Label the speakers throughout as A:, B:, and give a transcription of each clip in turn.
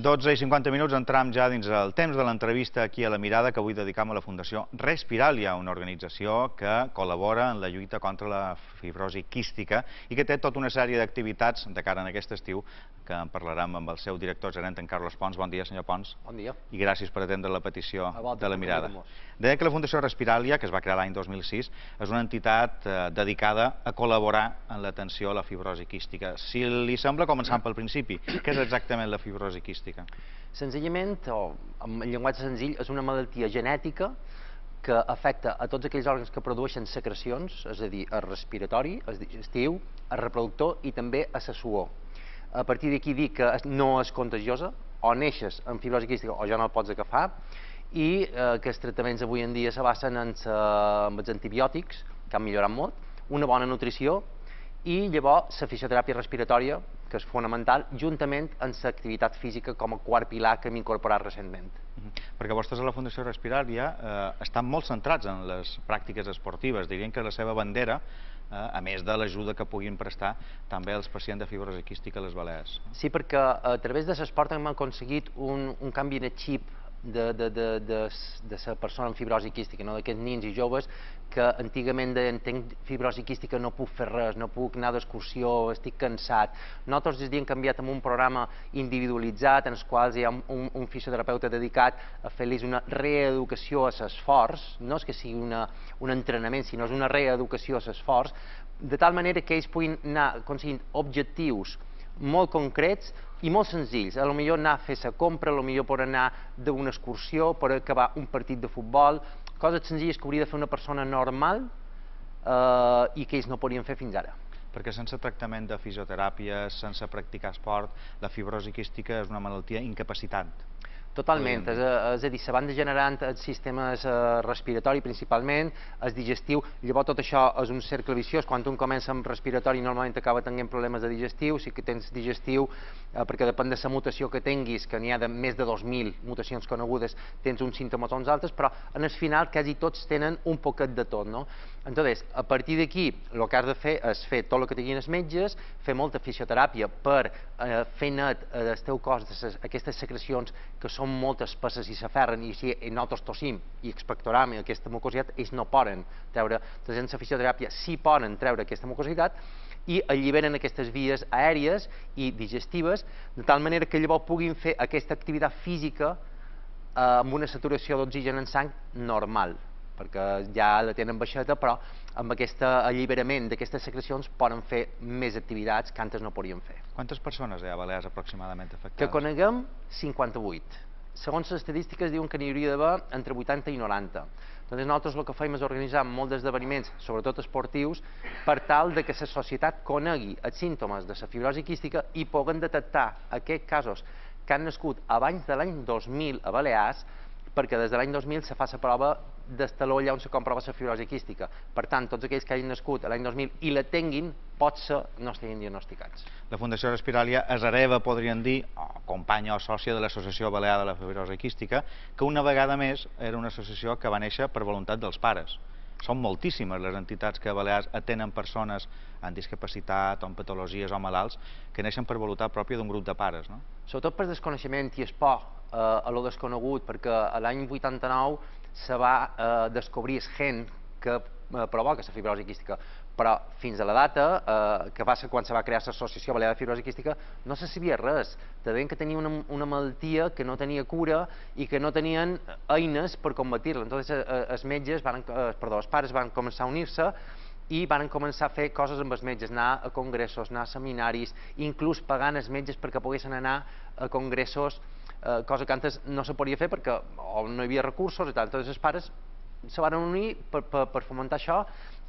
A: 12 i 50 minuts, entram ja dins el temps de l'entrevista aquí a La Mirada, que avui dedicam a la Fundació Respiralia, una organització que col·labora en la lluita contra la fibrosi quística i que té tota una sèrie d'activitats de cara a aquest estiu, que en parlarem amb el seu director gerent, en Carlos Pons. Bon dia, senyor Pons.
B: Bon dia.
A: I gràcies per atendre la petició de La Mirada.
B: vosaltres.
A: Deia que la Fundació Respiralia, que es va crear l'any 2006, és una entitat dedicada a col·laborar en l'atenció a la fibrosi quística. Si li sembla, començant pel principi, què és exactament la fibrosi quística?
B: Senzillament, o en llenguatge senzill, és una malaltia genètica que afecta a tots aquells òrgans que produeixen secrecions, és a dir, el respiratori, el digestiu, el reproductor i també a la suor. A partir d'aquí dir que no és contagiosa, o neixes amb fibrosi quística o ja no el pots agafar, i que els tractaments avui en dia se basen en els antibiòtics, que han millorat molt, una bona nutrició i llavors la fisioteràpia respiratòria, que és fonamental, juntament amb l'activitat física com a quart pilar que hem incorporat recentment.
A: Perquè vostès a la Fundació Respiralia estan molt centrats en les pràctiques esportives. Dirien que la seva bandera, a més de l'ajuda que puguin prestar també als pacients de fibrosi quística a les Balears.
B: Sí, perquè a través de l'esport hem aconseguit un canvi en el xip de la persona amb fibrosi quística, d'aquests nins i joves que antigament deien tenc fibrosi quística, no puc fer res, no puc anar d'excursió, estic cansat. Nosaltres des hem canviat amb un programa individualitzat en els quals hi ha un fisioterapeuta dedicat a fer-los una reeducació a l'esforç, no és que sigui un entrenament, sinó és una reeducació a l'esforç, de tal manera que ells puguin anar aconseguint objectius molt concrets i molt senzills. A lo millor anar a fer la compra, a lo millor per anar d'una excursió, per acabar un partit de futbol, coses senzilles que hauria de fer una persona normal i que ells no podien fer fins ara.
A: Perquè sense tractament de fisioteràpia, sense practicar esport, la fibrosi quística és una malaltia incapacitant.
B: Totalment, és a dir, se van degenerant els sistemes respiratori principalment, el digestiu, llavors tot això és un cercle viciós, quan un comença amb respiratori normalment acaba tenint problemes de digestiu, si que tens digestiu, perquè depèn de la mutació que tinguis, que n'hi ha de més de 2.000 mutacions conegudes, tens uns símptomes o uns altres, però en el final quasi tots tenen un poquet de tot, no? Entonces, a partir d'aquí, el que has de fer és fer tot el que tinguin els metges, fer molta fisioteràpia per fer net del teu cos aquestes secrecions que són molt espesses i s'aferren, i si nosaltres tossim i expectoram aquesta mucositat, ells no poden treure. Entonces, en la fisioteràpia sí poden treure aquesta mucositat i alliberen aquestes vies aèries i digestives, de tal manera que llavors puguin fer aquesta activitat física amb una saturació d'oxigen en sang normal, perquè ja la tenen baixeta, però amb aquest alliberament d'aquestes secrecions poden fer més activitats que antes no podien fer.
A: Quantes persones hi ha a Balears aproximadament afectades?
B: Que coneguem, 58. Segons les estadístiques diuen que n'hi hauria d'haver entre 80 i 90. Doncs nosaltres el que fem és organitzar molts esdeveniments, sobretot esportius, per tal que la societat conegui els símptomes de la fibrosi quística i puguen detectar aquests casos que han nascut abans de l'any 2000 a Balears, perquè des de l'any 2000 se fa la prova d'estaló allà on se comprova la fibrosi quística. Per tant, tots aquells que hagin nascut l'any 2000 i la tinguin, potser no estiguin diagnosticats.
A: La Fundació Respiralia és hereva, podríem dir, companya o sòcia de l'Associació Balear de la Fibrosi Quística, que una vegada més era una associació que va néixer per voluntat dels pares. Són moltíssimes les entitats que a Balears atenen persones amb discapacitat o amb patologies o malalts que neixen per voluntat pròpia d'un grup de pares, no?
B: Sobretot per desconeixement i es por a lo desconegut, perquè l'any 89 se va descobrir el gen que provoca la fibrosi quística, però fins a la data, que va ser quan se va crear l'Associació Balear de Fibrosi Quística, no se sabia res. Te deien que tenia una malaltia que no tenia cura i que no tenien eines per combatir-la. Entonces, els pares van començar a unir-se i van començar a fer coses amb els metges, anar a congressos, anar a seminaris, inclús pagant els metges perquè poguessin anar a congressos, cosa que antes no se podia fer perquè no hi havia recursos i tal. Entonces, els pares se van unir per fomentar això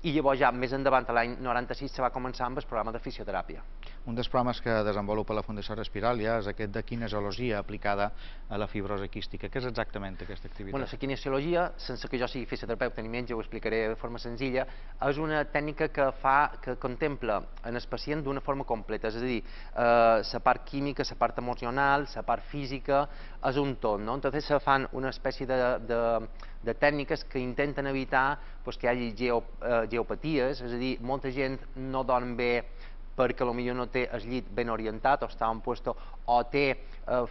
B: i llavors ja més endavant, l'any 96, se va començar amb el programa de fisioteràpia.
A: Un dels programes que desenvolupa la Fundació Respiralia és aquest de kinesiologia aplicada a la fibrosi quística. Què és exactament aquesta activitat?
B: La kinesiologia, sense que jo sigui fisioterapeuta ni metge, ho explicaré de forma senzilla, és una tècnica que contempla en el pacient d'una forma completa, és a dir, la part química, la part emocional, la part física, és un tot, no? Entonces se fan una espècie de tècniques que intenten evitar que hi hagi geopaties, és a dir, molta gent no dorm bé perquè potser no té el llit ben orientat o està en puesto, o té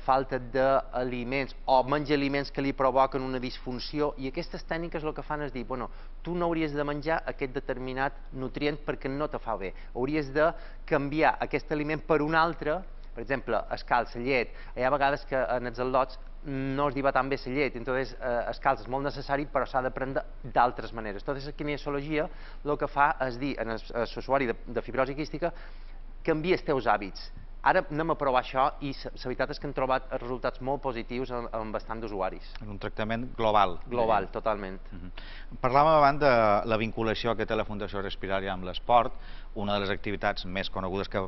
B: falta d'aliments o menja aliments que li provoquen una disfunció, i aquestes tècniques el que fan és dir, bueno, tu no hauries de menjar aquest determinat nutrient perquè no te fa bé, hauries de canviar aquest aliment per un altre. Per exemple, el calç, la llet, hi ha vegades que en els al·lots no es diva tan bé la llet, entonces el calç és molt necessari però s'ha de prendre d'altres maneres. Entonces la kinesiologia el que fa és dir a l'usuari de fibrosi quística, canvia els teus hàbits. Ara anem a provar això i la veritat és que hem trobat resultats molt positius en bastant d'usuaris.
A: En un tractament global.
B: Global, totalment.
A: Parlàvem abans de la vinculació que té la Fundació Respiràlia amb l'esport. Una de les activitats més conegudes que,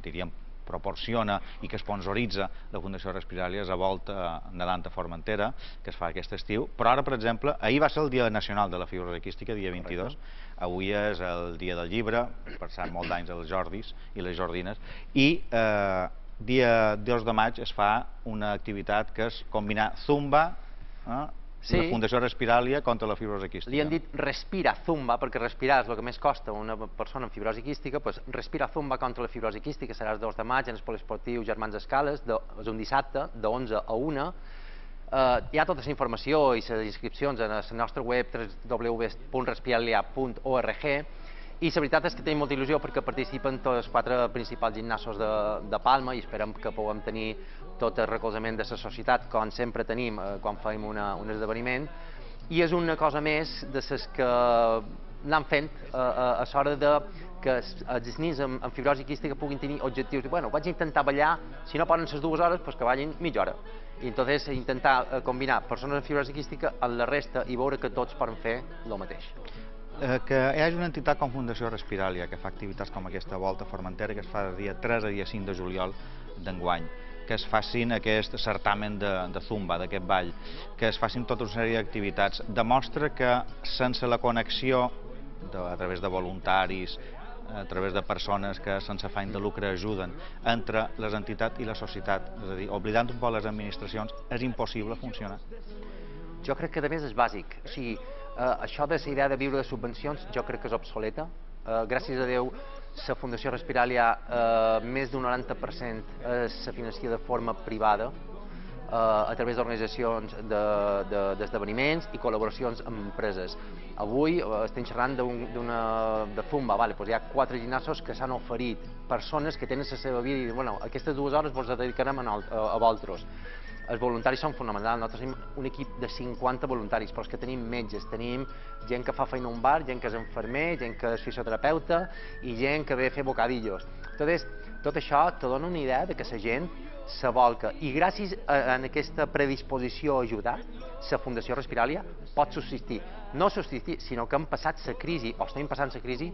A: diríem, proporciona i que sponsoritza la Fundació Respiràlia és a Volta nedant a Formentera, que es fa aquest estiu, però ara, per exemple, ahir va ser el Dia Nacional de la Fibrosi Quística, dia 22, avui és el Dia del Llibre, passant molt d'anys als Jordis i les Jordines, i dia 2 de maig es fa una activitat que és combinar Zumba, la Fundació Respiràlia contra la fibrosi quística.
B: Li han dit respira Zumba, perquè respirar és el que més costa a una persona amb fibrosi quística, doncs respira Zumba contra la fibrosi quística, serà el 2 de maig en el poliesportiu Germans Escales, és un dissabte, de 11 a 1. Hi ha tota la informació i les inscripcions a la nostra web www.respiralia.org, i la veritat és que tenim molta il·lusió perquè participen tots els 4 principals gimnasos de Palma i esperem que puguem tenir tot el recolzament de la societat, com sempre tenim quan fem un esdeveniment. I és una cosa més de les que anem fent a l'hora que els nens amb fibrosi quística puguin tenir objectius. Bueno, vaig intentar ballar, si no poden les 2 hores, doncs que ballin mitja hora. I entonces intentar combinar persones amb fibrosi quística amb la resta i veure que tots poden fer el mateix.
A: Que hi hagi una entitat com Fundació Respiràlia que fa activitats com aquesta Volta a Formentera, que es fa de dia 3 a dia 5 de juliol d'enguany, que es facin aquest certamen de Zumba, d'aquest ball, que es facin tota una sèrie d'activitats, demostra que sense la connexió a través de voluntaris, a través de persones que sense afany de lucre ajuden entre les entitats i la societat, és a dir, oblidant un poc les administracions, és impossible funcionar.
B: Jo crec que a més és bàsic, o sigui, això de la idea de viure de subvencions jo crec que és obsoleta. Gràcies a Déu, la Fundació Respiràlia, més d'un 90% se financia de forma privada a través d'organitzacions d'esdeveniments i col·laboracions amb empreses. Avui estem xerrant de Zumba, hi ha 4 gimnasos que s'han oferit, persones que tenen la seva vida i diuen, bueno, aquestes 2 hores vos dedicarem a vosaltres. Els voluntaris són fonamentals, nosaltres tenim un equip de 50 voluntaris, però és que tenim metges, tenim gent que fa feina a un bar, gent que és infermer, gent que és fisioterapeuta i gent que ve a fer bocadillos. Tot això te dona una idea de que la gent s'abolca i gràcies a aquesta predisposició a ajudar, la Fundació Respiràlia pot subsistir. No subsistir, sinó que hem passat la crisi, o estem passant la crisi,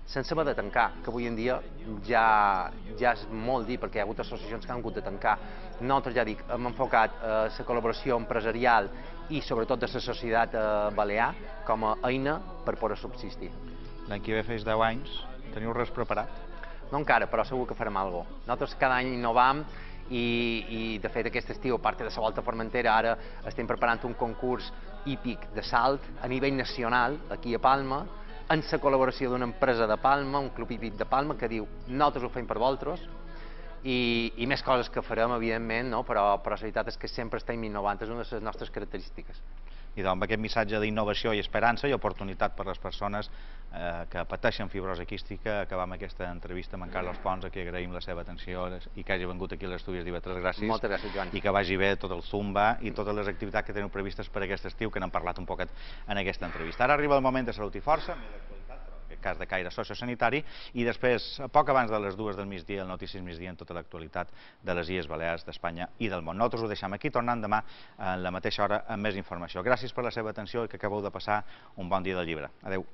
B: sense haver de tancar, que avui en dia ja és molt dir, perquè hi ha hagut associacions que han hagut de tancar. Nosaltres, ja dic, hem enfocat la col·laboració empresarial i sobretot de la societat balear com a eina per poder subsistir.
A: L'any que ve fes 10 anys, teniu res preparat?
B: No encara, però segur que farem alguna cosa. Nosaltres cada any innovam i de fet aquest estiu, a part de la Volta a Formentera, ara estem preparant un concurs hípic de salt a nivell nacional, aquí a Palma, en la col·laboració d'una empresa de Palma, un club hípic de Palma, que diu nosaltres ho fem per vosaltres, i més coses que farem, evidentment, però la veritat és que sempre estem innovant, és una de les nostres característiques.
A: I doncs amb aquest missatge d'innovació i esperança i oportunitat per a les persones que pateixen fibrosi quística, acabam aquesta entrevista amb en Carlos Pons, a qui agraïm la seva atenció i que hagi vengut aquí a l'estudi d'IV3. Gràcies.
B: Moltes gràcies, Joan.
A: I que vagi bé tot el Zumba i totes les activitats que teniu previstes per aquest estiu, que n'hem parlat un poquet en aquesta entrevista. Ara arriba el moment de Salut i Força, en cas de caire sociosanitari, i després, poc abans de les 2 del migdia, el Notícies Migdia en tota l'actualitat de les Illes Balears, d'Espanya i del món. Nosaltres ho deixem aquí, tornant demà a la mateixa hora amb més informació. Gràcies per la seva atenció i que acabeu de passar un bon dia del llibre. Adéu.